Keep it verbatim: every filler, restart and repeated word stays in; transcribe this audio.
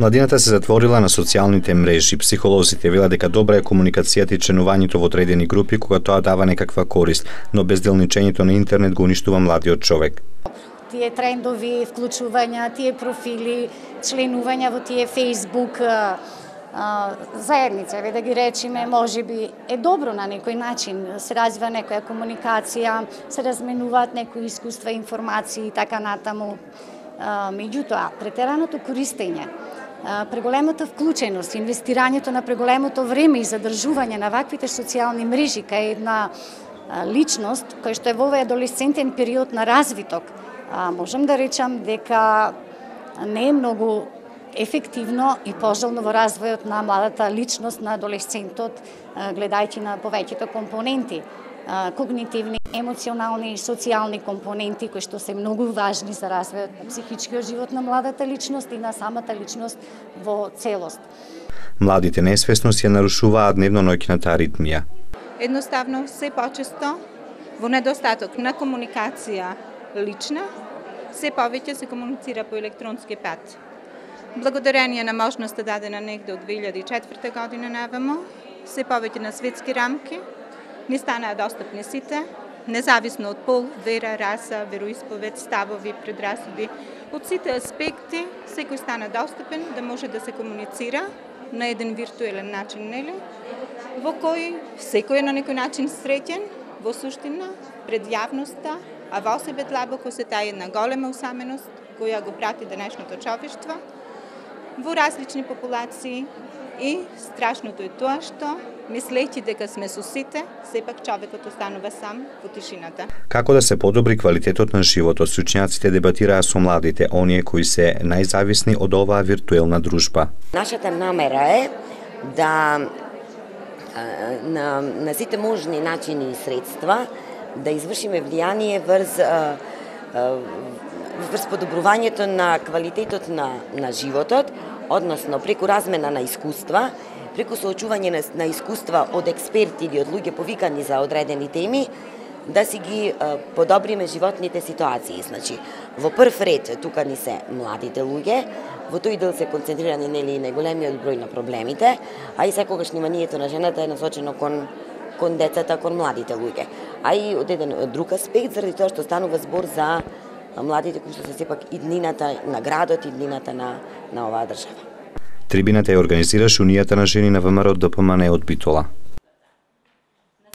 Младината се затворила на социјалните мрежи. Психолозите велат дека добра е комуникацијата и членувањето во одредени групи кога тоа дава некаква корист, но безделничењето на интернет го уништува младиот човек. Тие трендови, вклучувања, тие профили, членувања во тие Facebook заедница, еве да ги речеме, можеби е добро на некој начин, се развива некоја комуникација, се разменуваат некои искуства, информации и така натаму. Меѓутоа, претераното користење, преголемата вклученост, инвестирањето на преголемото време и задржување на ваквите социјални мрежи кај една личност која што е во овој адолесцентен период на развиток, можам да речам дека не е многу ефективно и пожелно во развојот на младата личност на адолесцентот, гледајќи на повеќето компоненти, когнитивни, емоционални и социјални компоненти кои што се многу важни за развојот на психичкиот живот на младата личност и на самата личност во целост. Младите несвесно си ја нарушуваат дневно-ноќната аритмија. Едноставно, се почесто во недостаток на комуникација лична, се повеќе се комуницира по електронски пат. Благодарение на можноста дадена негде од две илјади и четврта година навамо, се повеќе на светски рамки, не станаа достапни сите, независно од пол, вера, раса, вероисповед, ставови, предрасуди. Од сите аспекти, секој стана достапен да може да се комуницира на еден виртуелен начин, нели? Во кој секој е на некој начин среќен, во суштина, пред јавноста, а во себе длабоко се таа една голема усаменост која го прати денешното човештво во различни популации и страшното е тоа што, мислејќи дека сме со сите, сепак човекот останува сам во тишината. Како да се подобри квалитетот на животот, стручњаците дебатираа со младите, оние кои се најзависни од оваа виртуелна дружба. Нашата намера е да на, на сите можни начини и средства да извршиме влијание врз врз подобрувањето на квалитетот на, на животот, односно преку размена на искуства, преку соочување на, на искуства од експерти или од луѓе повикани за одредени теми, да си ги а, подобриме животните ситуации. Значи, во прв ред тука ни се младите луѓе, во тој дел се концентрирани нели најголемиот број на проблемите, а и секогаш вниманието на жената е насочено кон кон децата, кон младите луѓе. А и од еден друг аспект, заради тоа што станува збор за младите кои што се сепак иднината на градот, иднината на, на оваа држава. Трибината ја организираше Унијата на жени на ВМРО ДПМН од Битола.